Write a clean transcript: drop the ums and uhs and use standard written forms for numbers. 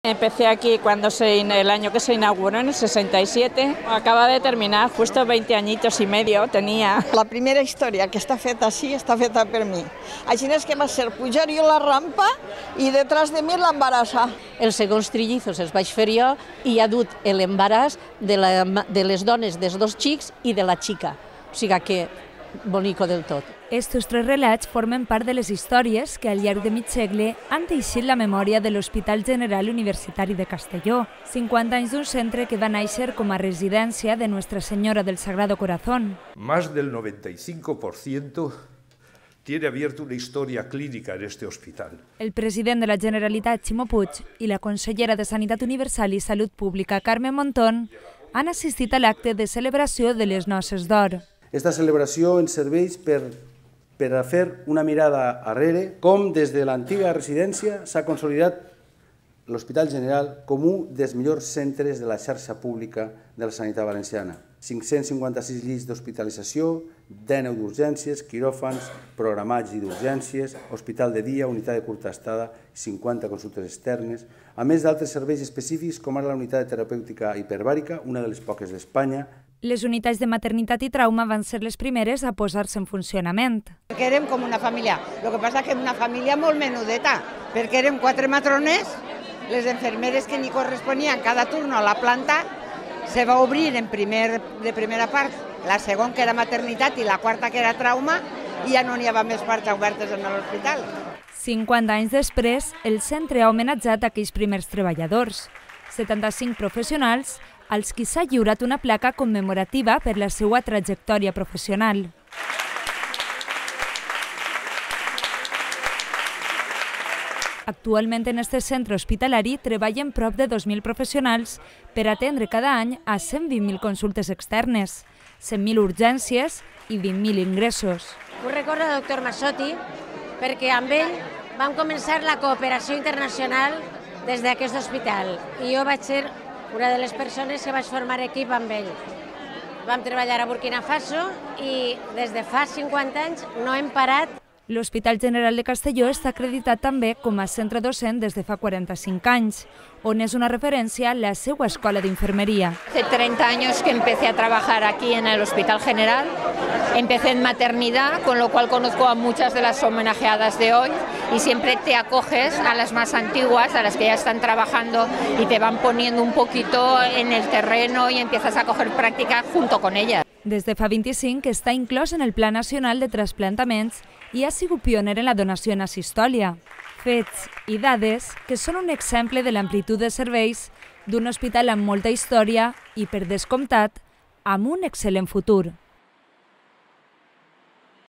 Empecé aquí el año que se inauguró, en el 67. Acaba de terminar, justo 20 añitos y medio tenía. La primera història que està feta així està feta per mi. Així és que va ser pujar jo la rampa i detrás de mi l'embarassa. Els segons trillizos els vaig fer jo i ha dut l'embaràs de les dones dels dos xics i de la xica. O sigui que bonico del tot. Estos tres relats formen part de les històries que al llarg de mig segle han teixit la memòria de l'Hospital General Universitari de Castelló, 50 anys d'un centre que va néixer com a residència de Nuestra Señora del Sagrado Corazón. Más del 95% tiene abierta una historia clínica en este hospital. El president de la Generalitat, Ximo Puig, i la consellera de Sanitat Universal i Salut Pública, Carme Montón, han assistit a l'acte de celebració de les Noces d'Or. Esta celebració ens serveix per a fer una mirada arrere com des de l'antiga residència s'ha consolidat l'Hospital General com un dels millors centres de la xarxa pública de la sanitat valenciana. 556 llits d'hospitalització, 19 d'urgències, quiròfans, programats i d'urgències, hospital de dia, unitat de curta estada, 50 consultes externes, a més d'altres serveis específics com ara la unitat de terapèutica hiperbàrica, una de les poques d'Espanya. Les unitats de maternitat i trauma van ser les primeres a posar-se en funcionament. Perquè érem com una família, el que passa que era una família molt menudeta, perquè érem 4 matrones, les infermeres que ni corresponien cada turno a la planta, se va obrir de primera part, la segona que era maternitat i la quarta que era trauma, i ja no n'hi havia més parts obertes en l'hospital. 50 anys després, el centre ha homenatjat aquells primers treballadors, 75 professionals, als qui s'ha lliurat una placa commemorativa per la seva trajectòria professional. Actualment en aquest centre hospitalari treballen prop de 2.000 professionals per atendre cada any a 120.000 consultes externes, 100.000 urgències i 20.000 ingressos. Ho recordo el doctor Massotti perquè amb ell vam començar la cooperació internacional des d'aquest hospital i jo vaig ser una de les persones que vaig formar equip amb ell. Vam treballar a Burkina Faso i des de fa 50 anys no hem parat. L'Hospital General de Castelló està acreditat també com a centre docent des de fa 45 anys, on és una referència la seva escola d'infermeria. Hace 30 años que empecé a trabajar aquí en el Hospital General. Empecé en maternidad, con lo cual conozco a muchas de las homenajeadas de hoy y siempre te acoges a las más antiguas, a las que ya están trabajando y te van poniendo un poquito en el terreno y empiezas a coger práctica junto con ellas. Des de fa 25 està inclòs en el Pla Nacional de Trasplantaments i ha sigut pioner en la donació en asistòlia. Fets i dades que són un exemple de l'amplitud de serveis d'un hospital amb molta història i, per descomptat, amb un excel·lent futur.